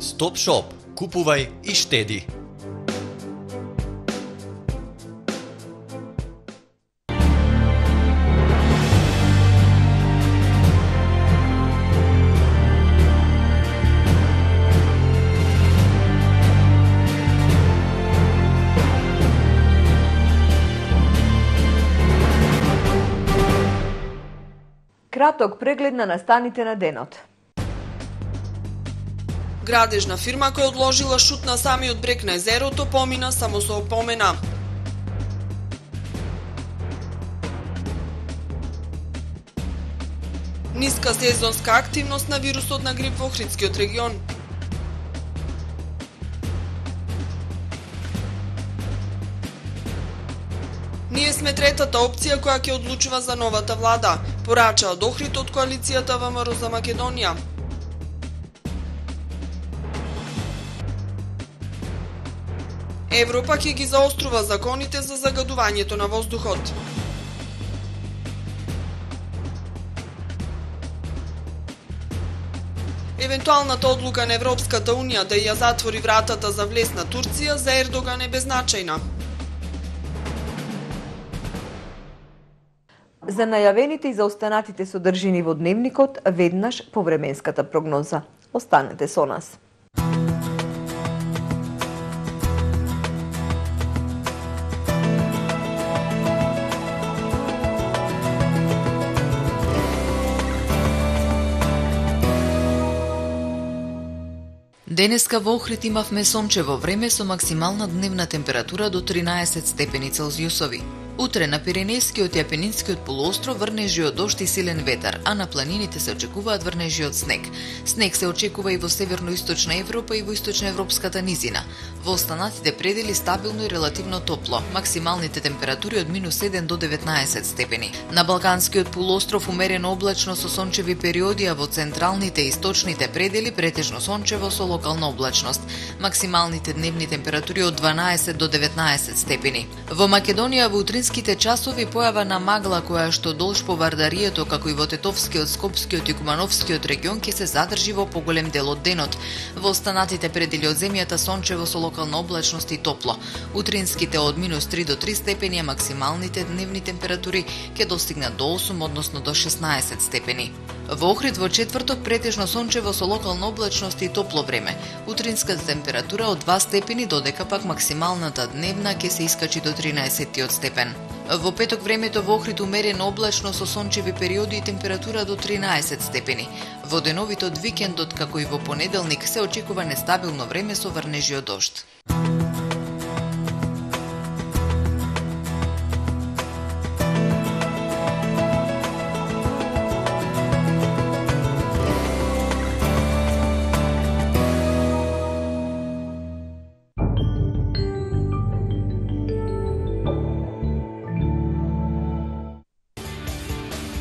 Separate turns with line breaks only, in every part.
Стоп Шоп. Купувај и штеди.
Краток преглед на настаните на денот.
Градежна фирма која одложила шут на самиот брег на езерото помина само со опомена. Ниска сезонска активност на вирусот на грип во Охридскиот регион. Ние сме третата опција која ќе одлучува за новата влада, порачаа од Охрид од коалицијата ВМРО за Македонија. Европа ќе ги заострува законите за загадувањето на воздухот. Евентуалната одлука на Европската Унија да ја затвори вратата за влез на Турција за Ердоган е беззначајна.
За најавените и заостанатите содржини во дневникот, веднаш по временската прогноза. Останете со нас.
Денеска во Охрид имавме сончево време со максимална дневна температура до 13 степени Целзиусови. Утре на Пиренејскиот и Апенинскиот полуостров врнежи од дожд и силен ветар, а на планините се очекуваат врнежи од снег. Снег се очекува и во северно-источна Европа и во источноевропската низина. Во останатите предели стабилно и релативно топло, максималните температури од -7 до 19 степени. На Балканскиот полуостров умерено облачно со сончеви периоди, а во централните и источните предели претежно сончево со локална облачност. Максималните дневни температури од 12 до 19 степени. Во Македонија во утринските часови појава на магла која што долж по Вардарието, како и во Тетовскиот, Скопскиот и Кумановскиот регион ќе се задржи во поголем дел од денот. Во останатите предели од земјата сончево со локална облачност и топло. Утринските од -3 до 3 степени, а максималните дневни температури ќе достигнат до 8, односно до 16 степени. Во Охрид во четврток претежно сончево со локална облачност и топло време. Утринската температура од 2 степени, додека пак максималната дневна ќе се искачи до 13 степен. Во петок времето во Охрид умерено облачно со сончеви периоди и температура до 13 степени. Во деновите од викендот, како и во понеделник, се очекува нестабилно време со врнежи од дожд.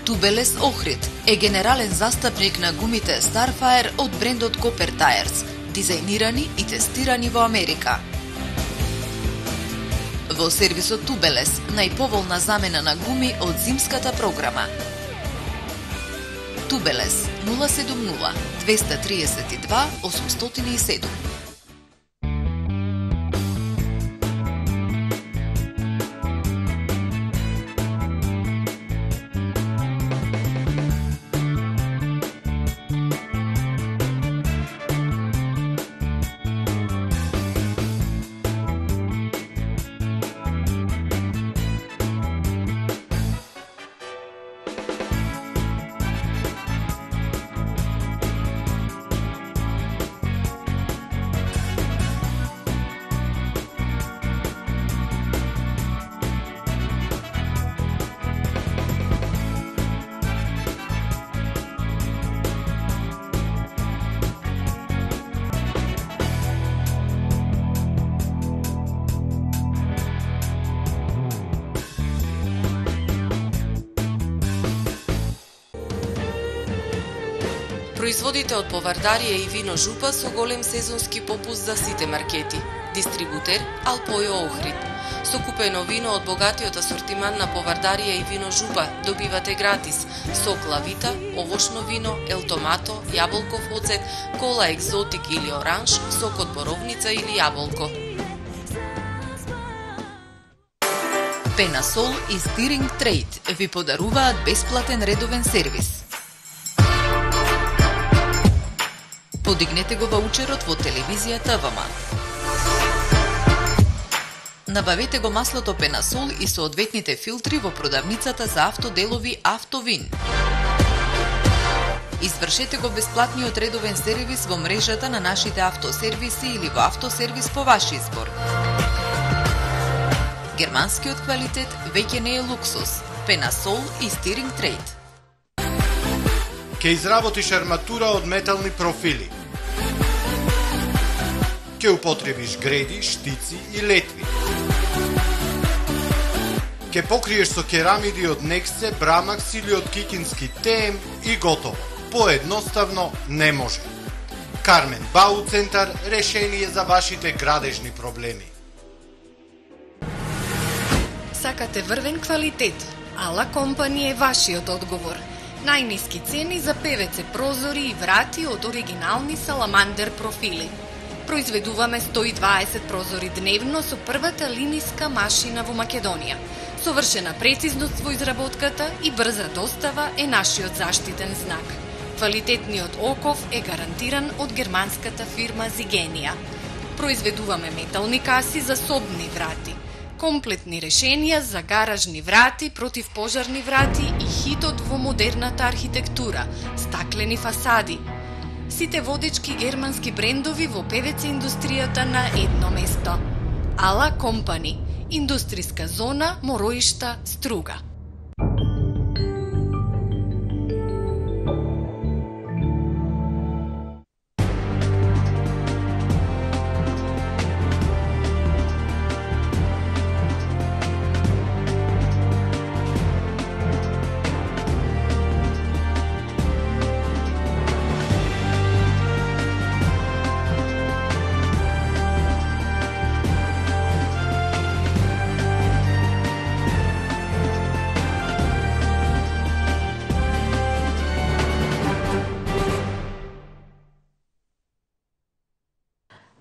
Тубелес Охрид е генерален застапник на гумите Starfire од брендот Copper Tires, дизајнирани и тестирани во Америка. Во сервисот Тубелес, најповолна замена на гуми од зимската програма. Тубелес 070 232 807. Производите од Повардарија и вино Жупа со голем сезонски попуст за сите маркети.
Дистрибутер Алпојо Охрид. Со купено вино од богатиот асортиман на повардарија и вино Жуба добивате гратис сок Лавита, овошно вино, елтомато, јаболков оцет, кола екзотик или оранж, сок од боровница или јаболко.
Пенасол и Стиринг Трейд ви подаруваат бесплатен редовен сервис. Подигнете го ваучерот во телевизијата ВМ. Набавете го маслото Пенасол и соодветните филтри во продавницата за автоделови Автовин. Извршете го бесплатниот редовен сервис во мрежата на нашите автосервиси или во автосервис по ваш избор. Германскиот квалитет веќе не е луксус. Пенасол и Стиринг Трейд.
Ке изработиш арматура од метални профили. Ке употребиш греди, штици и летви. Ке покриеш со керамиди од Нексе, Брамакс или од Кикински ТМ и готово. Поедноставно не може. Кармен Бау Центар, решение за вашите градежни проблеми.
Сакате врвен квалитет? Ала Компани е вашиот одговор. Најниски цени за ПВЦ прозори и врати од оригинални Саламандер профили. Произведуваме 120 прозори дневно со првата линиска машина во Македонија. Совршена прецизност во изработката и брза достава е нашиот заштитен знак. Квалитетниот оков е гарантиран од германската фирма Зигенија. Произведуваме метални каси за собни врати, комплетни решенија за гаражни врати, противпожарни врати и хитот во модерната архитектура, стаклени фасади. Сите водечки германски брендови во ПВЦ индустријата на едно место. Ала Компани, индустријска зона Мороишта, Струга.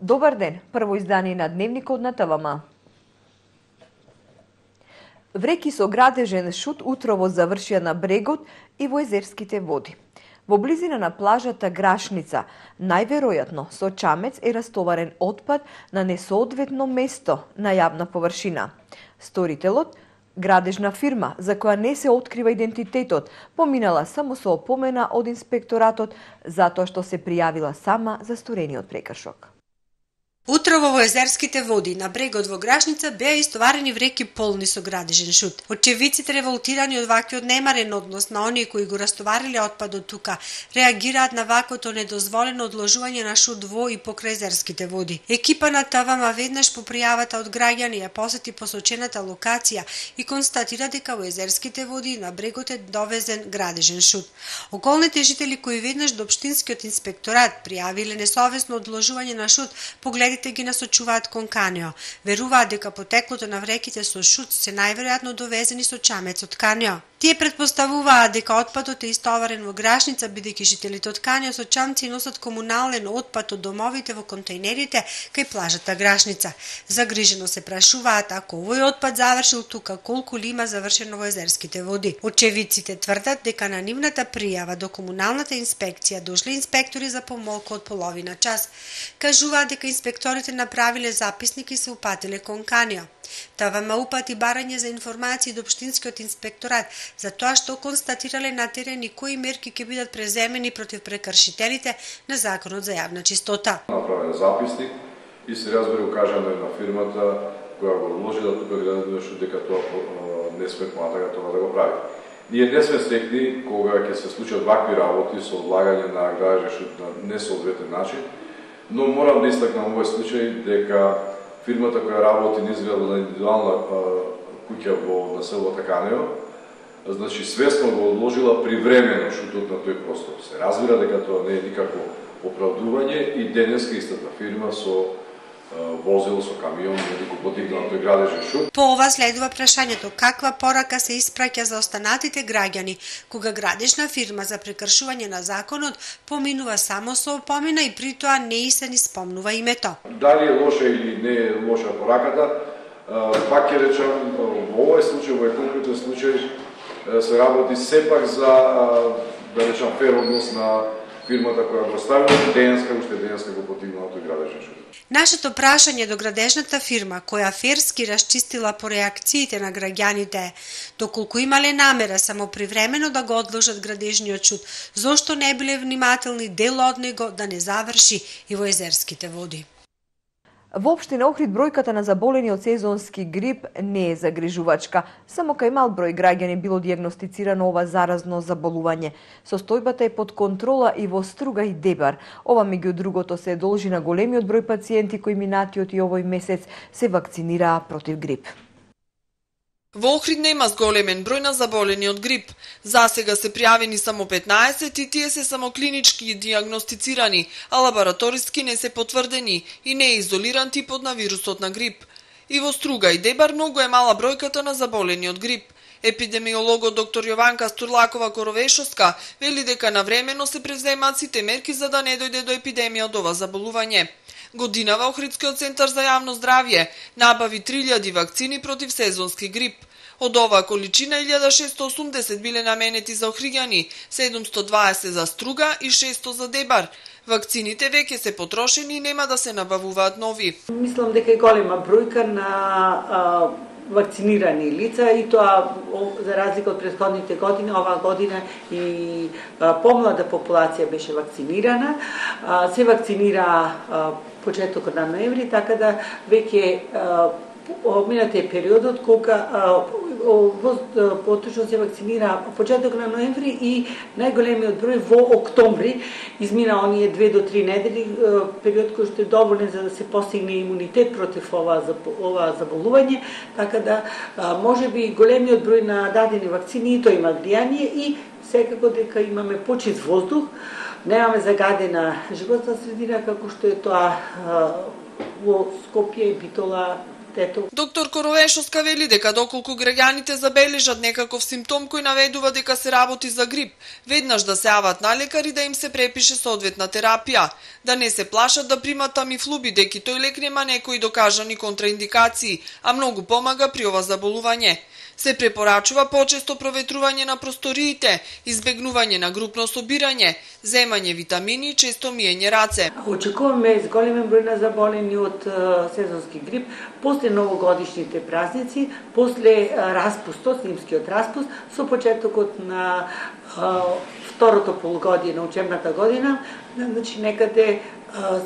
Добар ден, прво издание на Дневникот на ТВМ. Вреки со градежен шут утрово завршија на брегот и во езерските води. Во близина на плажата Грашница, најверојатно со чамец е растоварен отпад на несоодветно место на јавна површина. Сторителот, градежна фирма за која не се открива идентитетот, поминала само со опомена од инспекторатот затоа што се пријавила сама за сторениот прекршок.
Утрово во езерските води на брегот во Грашница беа истоварени вреки полни со градежен шут. Очевиците, револтирани од ваквиот немарен однос на оние кои го растовариле отпадот тука, реагираат на ваквото недозволено одложување на шут во и покрај езерските води. Екипа на ТВМ веднаш по пријавата од граѓани ја посети посочената локација и констатира дека во езерските води на брегот е довезен градежен шут. Околните жители кои веднаш до општинскиот инспекторат пријавиле несовесно одложување на шут, погледите ги насочуваат кон Канио. Веруваат дека потеклото на вреките со шут се најверојатно довезени со чамец од Канио. Тие претпоставуваат дека отпадот е истоварен во Грашница, бидејќи жителите од Канио со чамци носат комунален отпад од домовите во контејнерите кај плажата Грашница. Загрижено се прашуваат ако овој отпад завршил тука, колку ли има завршено во езерските води. Очевиците тврдат дека на нивната пријава до комуналната инспекција дошле инспектори за помалку од половина час. Кажуваат дека инспекторите направиле записник и се упатиле кон Канио. ТВМ упати барање за информации до општинскиот инспекторат за тоа што констатирале на терен и кои мерки ќе бидат преземени против прекршителите на законот за јавна чистота.
Направен записник и се разбери укажано на фирмата која го вложи да тука градеше дека тоа не сме поматага тоа да го прави. Ние не сме стекли кога ќе се случат вакви работи со одлагање на градежен на несоодветен начин, но морам да истакнам овој случај дека фирмата која работи низ индивидуална куќа во населбата Канио, значи свесно го одложила привремено шутот на тој простор. Се разбира дека тоа не е никакво оправдување и денеска истата фирма со возил со камион или потикнатој градежен шут.
По ова следува прашањето каква порака се испраќа за останатите граѓани кога градежна фирма за прекршување на законот поминува само со опомена и при тоа не и се ни спомнува името.
Дали е лоша или не е лоша пораката, пак ќе речам, во овој случај, во конкретен случај, се работи сепак за, да речам, фер однос на фирмата која го ставила, уште денеска го потигнатој градежен шут.
Нашето прашање до градежната фирма, која ферски расчистила по реакциите на граѓаните, доколку имале намера само привремено да го одложат градежниот шут, зошто не биле внимателни дел од него да не заврши и во езерските води.
Во општина Охрид бројката на заболени од сезонски грип не е загрижувачка. Само кај мал број граѓани било дијагностицирано ова заразно заболување. Состојбата е под контрола и во Струга и Дебар. Ова меѓу другото се должи на големиот број пациенти кои минатиот и овој месец се вакцинираа против грип.
Во Охрид нема зголемен број на заболени од грип. Засега се пријавени само 15 и тие се само клинички дијагностицирани, а лабораториски не се потврдени и не е изолиран типот на вирусот на грип. И во Струга и Дебар многу е мала бројката на заболени од грип. Епидемиологот доктор Јованка Стурлакова-Коровешовска вели дека навремено се превземаат сите мерки за да не дојде до епидемија од ова заболување. Годинава Охридскиот центар за јавно здравје набави 3000 вакцини против сезонски грип. Од оваа количина 1680 биле наменети за охриѓани, 720 за Струга и 600 за Дебар. Вакцините веќе се потрошени и нема да се набавуваат нови.
Мислам дека е голема бројка на вакцинирани лица и тоа за разлика од претходните години, оваа година и помлада популација беше вакцинирана. Се вакцинира почетокот на ноември, така да веќе минате периодот кога поточно се вакцинира почеток на ноември и најголемиот број во октомври. Измина оние 2 до 3 недели, период кој што е доволен за да се постигне имунитет против ова заболување, така да можеби големиот број на дадени вакцини и тоа има влијание и секако дека имаме почист воздух, немаме загадена животна средина како што е тоа во Скопје, Битола, Тето.
Доктор Коровешовска вели дека доколку граѓаните забележат некаков симптом кој наведува дека се работи за грип, веднаш да се јават на лекар и да им се препише соодветна терапија, да не се плашат да примат тамифлу бидејќи тој лек нема некои докажани контраиндикации, а многу помага при ова заболување. Се препорачува почесто проветрување на просториите, избегнување на групно собирање, земање витамини и често миење раце.
Очекуваме зголемен број на заболени од сезонски грип после новогодишните празници, после распустот, зимскиот распуст, со почетокот на второто полугодие на учебната година, значи некаде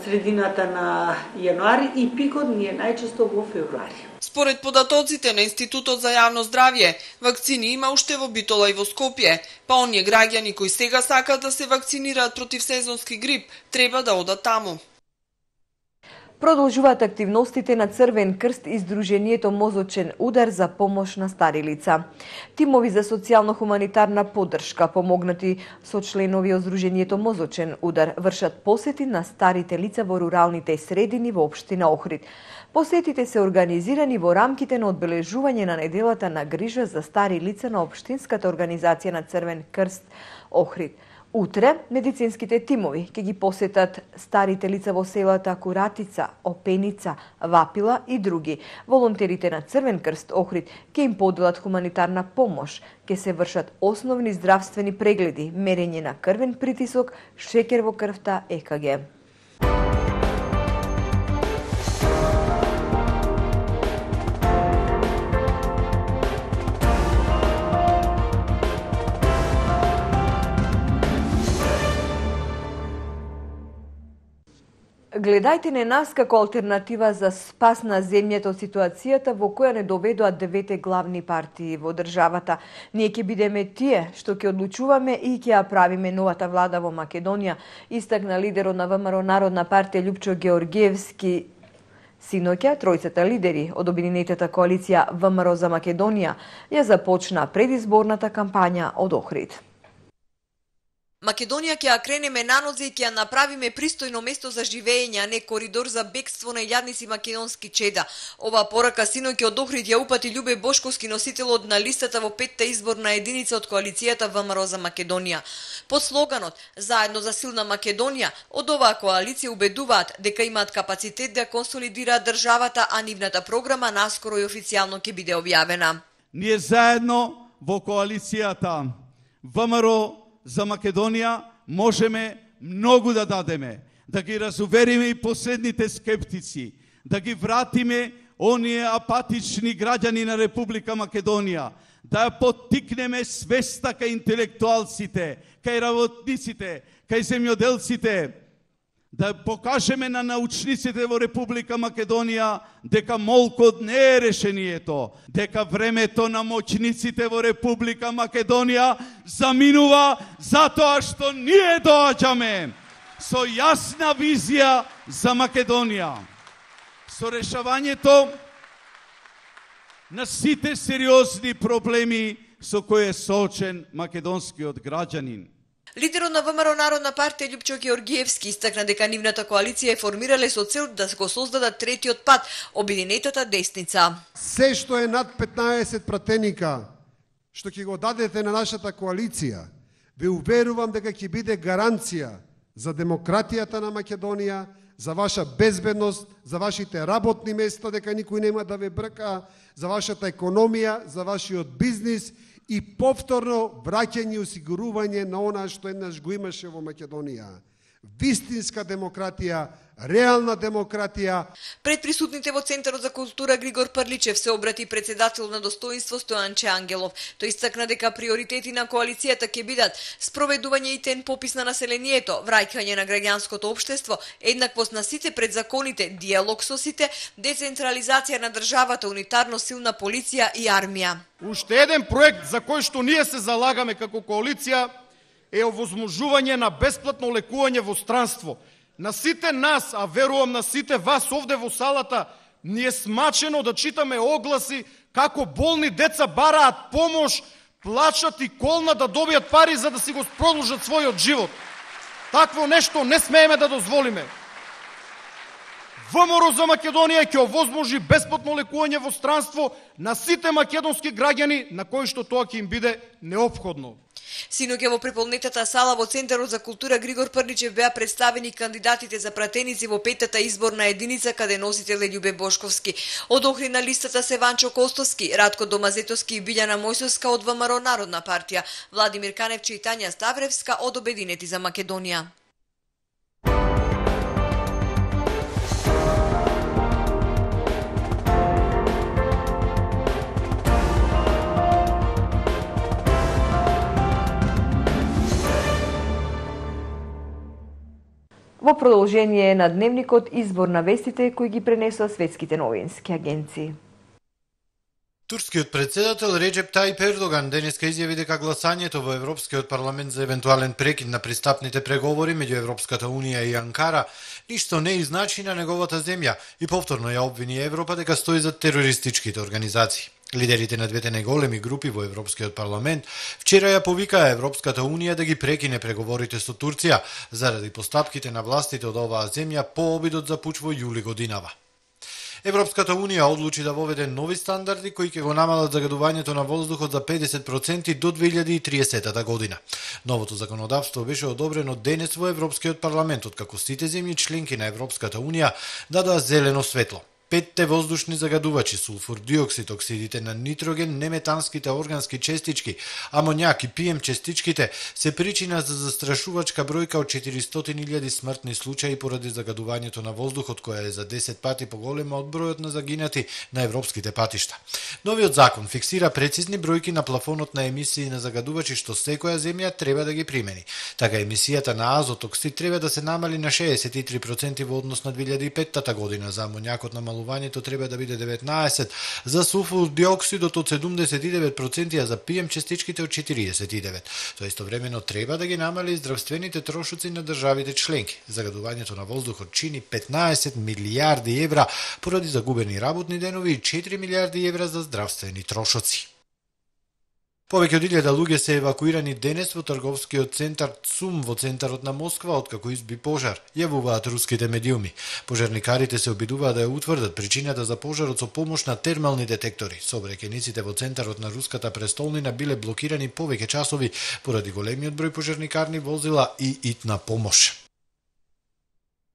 средината на јануари и пикот ни е најчесто во февруари.
Според податоците на Институтот за јавно здравје, вакцини има уште во Битола и во Скопје, па оние граѓани кои сега сакаат да се вакцинираат против сезонски грип, треба да одат таму.
Продолжуваат активностите на Црвен крст и Сдруженијето Мозочен удар за помош на стари лица. Тимови за социјално-хуманитарна поддршка, помогнати со членови од Сдруженијето Мозочен удар, вршат посети на старите лица во руралните средини во општина Охрид. Посетите се организирани во рамките на одбележување на неделата на грижа за стари лица на општинската организација на Црвен крст Охрид. Утре, медицинските тимови ќе ги посетат старите лица во селата Куратица, Опеница, Вапила и други. Волонтерите на Црвен крст Охрид ќе им поделат хуманитарна помош, ќе се вршат основни здравствени прегледи, мерење на крвен притисок, шекер во крвта, ЕКГ. Гледајте не нас како алтернатива за спас на земјата од ситуацијата во која не доведоа 9 главни партии во државата. Ние ќе бидеме тие што ќе одлучуваме и ќе ја правиме новата влада во Македонија, истакна лидерот на ВМРО Народна партија Љупчо Георгиевски. Синоќа, тројцата лидери од обединетата коалиција ВМРО за Македонија ја започна предизборната кампања од Охрид.
Македонија ќе ја кренеме на нозе и ќе ја направиме пристојно место за живење, а не коридор за бегство на илјадници македонски чеда. Оваа порака синоќ од Охрид ја упати Љубе Бошковски, носителот на листата во 5-та изборна единица од коалицијата ВМРО за Македонија. Под слоганот "Заедно за силна Македонија", од оваа коалиција убедуваат дека имаат капацитет да консолидираат државата, а нивната програма наскоро и официјално ќе биде објавена.
Ние заедно во коалицијата ВМРО за Македонија можеме многу да дадеме, да ги разувериме и последните скептици, да ги вратиме оние апатични граѓани на Република Македонија, да ја поттикнеме свеста кај интелектуалците, кај работниците, кај земјоделците, да покажеме на научниците во Република Македонија дека молкот не е решението, дека времето на моќниците во Република Македонија заминува затоа што ние доаѓаме со јасна визија за Македонија, со решавањето на сите сериозни проблеми со кои е соочен македонскиот граѓанин.
Лидерот на ВМРО Народна партија Љупчо Георгиевски истакна дека нивната коалиција е формирале со цел да го создадат третиот пат, обединетата десница.
Се што е над 15 пратеника, што ќе го дадете на нашата коалиција, ве уверувам дека ќе биде гаранција за демократијата на Македонија, за ваша безбедност, за вашите работни места, дека никој нема да ве брка, за вашата економија, за вашиот бизнис и повторно враќање и осигурување на она што еднаш го имаше во Македонија. Вистинска демократија, реална демократија.
Пред присутните во Центарот за култура Григор Прличев се обрати председател на достоинство Стојанче Ангелов. Тој истакна дека приоритети на коалицијата ќе бидат спроведување итен попис на населението, враќање на граѓанското општество, еднаквост на сите пред законите, диалог со сите, децентрализација на државата, унитарно силна полиција и армија.
Уште еден проект за кој што ние се залагаме како коалиција е овозможување на бесплатно лекување во странство. На сите нас, а верувам на сите вас овде во салата, ни е смачено да читаме огласи како болни деца бараат помош, плачат и колна да добијат пари за да си го продолжат својот живот. Такво нешто не смееме да дозволиме. ВМРО за Македонија ќе овозможи бесплатно лекување во странство на сите македонски граѓани на кои што тоа ќе им биде неопходно.
Синоќа во преполнетата сала во Центарот за култура Григор Прличев беа представени кандидатите за пратеници во 5-та изборна единица, каде носител е Љубе Бошковски. Од Охрид на листата се Ванчо Костовски, Радко Домазетовски и Билјана Мојсовска од ВМРО Народна партија, Владимир Каневче и Тања Ставревска од Обединети за Македонија.
Во продолжение на дневникот избор на вестите кои ги пренесоа светските новински агенции.
Турскиот председател Реджеп Тајип Ердоган денеска изјави дека гласањето во Европскиот парламент за евентуален прекид на пристапните преговори меѓу Европската унија и Анкара ништо не изначи на неговата земја и повторно ја обвини Европа дека стои за терористичките организации. Лидерите на двете најголеми групи во Европскиот парламент вчера ја повикаа Европската унија да ги прекине преговорите со Турција заради постапките на властите од оваа земја по обидот за пуч во јули годинава. Европската унија одлучи да воведе нови стандарди кои ќе го намалат загадувањето на воздухот за 50% до 2030 година. Новото законодавство беше одобрено денес во Европскиот парламент, откако сите земји членки на Европската унија дадоа зелено светло. 5 воздушни загадувачи, сулфур диоксид, оксидите на нитроген, неметанските органски честички, амоњак и PM честичките се причина за застрашувачка бројка од 400.000 смртни случаи поради загадувањето на воздухот, која е за 10 пати поголема од бројот на загинати на европските патишта. Новиот закон фиксира прецизни бројки на плафонот на емисии на загадувачи што секоја земја треба да ги примени. Така емисијата на азот оксид треба да се намали на 63% во однос на 2005 година, за амоњакот намалувањето треба да биде 19%, за сулфур диоксидот од 79%, а за PM честичките од 49%. Тоа истовремено треба да ги намали здравствените трошоци на државите членки. Загадувањето на воздухот чини 15 милијарди евра поради загубени работни денови и 4 милијарди евра за здравствени трошоци. Повеќе од 1000 луѓе се евакуирани денес во трговскиот центар ЦУМ во центарот на Москва откако изби пожар, јавуваат руските медиуми. Пожарникарите се обидуваат да ја утврдат причината за пожарот со помош на термални детектори. Сообраќајниците во центарот на руската престолнина биле блокирани повеќе часови поради големиот број пожарникарни возила и итна помош.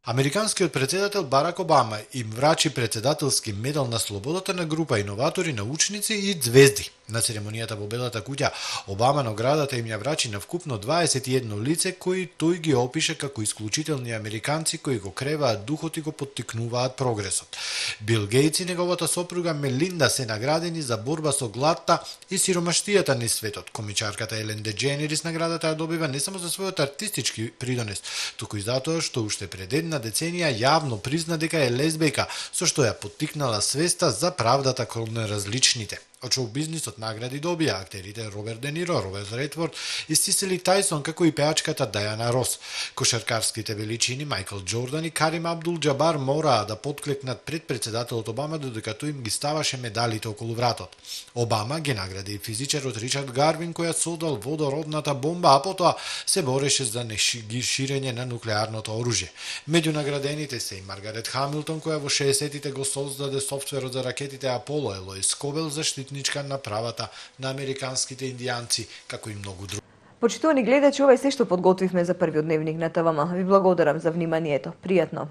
Американскиот председател Барак Обама им врачи председателски медал на слободата на група иноватори, научници и звезди. На церемонијата во Белата куќа, Обама наградата им ја врачи на вкупно 21 лице кои тој ги опише како исклучителни американци кои го креваат духот и го поттикнуваат прогресот. Бил Гейтс и неговата сопруга Мелинда се наградени за борба со гладта и сиромаштијата низ светот. Комичарката Елен Деџенерис наградата ја добива не само за својот артистички придонес, туку и затоа што уште пред една деценија јавно призна дека е лесбејка, со што ја поттикнала свеста за правдата кон различните. Од шоу-бизнисот награди добија актерите Роберт Де Ниро, Роберт Редфорд и Сисили Тајсон, како и пеачката Дајана Рос. Кошаркарските величини Мајкл Џордан и Карим Абдул-Џабар мораа да потклекнат пред председателот Обама додека тој им ги ставаше медалите околу вратот. Обама ги награди и физичарот Ричард Гарвин која содал водородната бомба, а потоа се бореше за неширење на нуклеарното оружје. Меѓу наградените се и Маргарет Хамилтон која во 60-тите го создаде софтверот за ракетите Аполо, Елоис Скобел заштитничка на правата на американските индијанци, како и многу други.
Почитувани гледачи, ова е се што подготвивме за првиот дневник на ТВМ. Ви благодарам за вниманието. Пријатно.